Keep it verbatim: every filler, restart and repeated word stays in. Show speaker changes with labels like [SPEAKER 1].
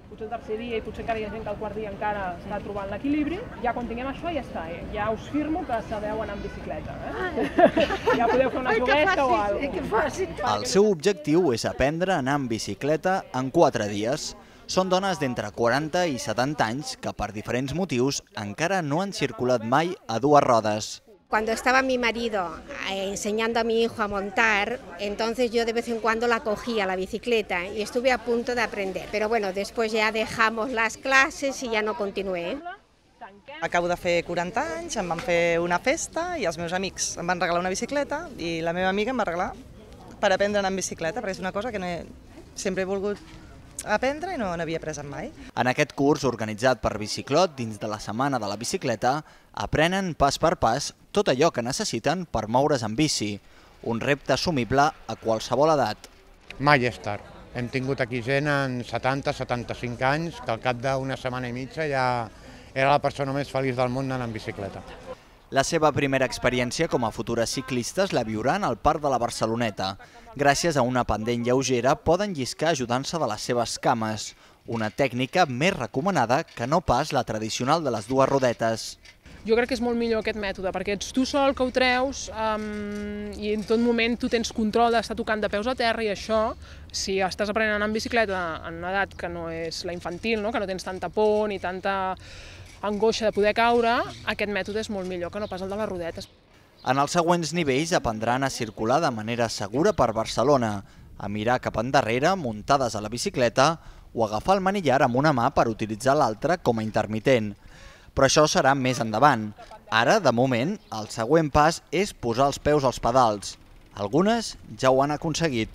[SPEAKER 1] potser el tercer dia i potser encara hi ha gent que el quart dia encara està trobant l'equilibri. Ja quan tinguem això ja està, eh? Ja us firmo que sabeu anar en bicicleta. Eh? Ja podeu fer una juguesca o alguna cosa.
[SPEAKER 2] El seu objectiu és aprendre a anar en bicicleta en quatre dies. Són dones d'entre quaranta i setanta anys que per diferents motius encara no han circulat mai a dues rodes.
[SPEAKER 3] Cuando estaba mi marido enseñando a mi hijo a montar, entonces yo de vez en cuando la cogía la bicicleta y estuve a punto de aprender. Pero bueno, después ya dejamos las clases i ja no continué.
[SPEAKER 4] Acabo de fer quaranta anys, em van fer una festa i els meus amics em van regalar una bicicleta i la meva amiga em va regalar per aprendre a anar en bicicleta, perquè és una cosa que no he, sempre he volgut aprendre i no n'havia après mai.
[SPEAKER 2] En aquest curs, organitzat per Biciclot dins de la Setmana de la Bicicleta, aprenen pas per pas tot allò que necessiten per moure's en bici, un repte assumible a qualsevol edat.
[SPEAKER 5] Mai és tard. Hem tingut aquí gent en setanta setanta-cinc anys que al cap d'una setmana i mitja ja era la persona més feliç del món anant en bicicleta.
[SPEAKER 2] La seva primera experiència com a futures ciclistes la viuran al Parc de la Barceloneta. Gràcies a una pendent lleugera poden lliscar ajudant-se de les seves cames, una tècnica més recomanada que no pas la tradicional de les dues rodetes.
[SPEAKER 1] Jo crec que és molt millor aquest mètode, perquè ets tu sol que ho treus um, i en tot moment tu tens control d'estar tocant de peus a terra i això, si estàs aprenent a anar en bicicleta en una edat que no és la infantil, no? Que no tens tanta por ni tanta angoixa de poder caure, aquest mètode és molt millor que no pas el de les rodetes.
[SPEAKER 2] En els següents nivells aprendran a circular de manera segura per Barcelona, a mirar cap endarrere muntades a la bicicleta o agafar el manillar amb una mà per utilitzar l'altra com a intermitent. Però això serà més endavant. Ara, de moment, el següent pas és posar els peus als pedals. Algunes ja ho han aconseguit.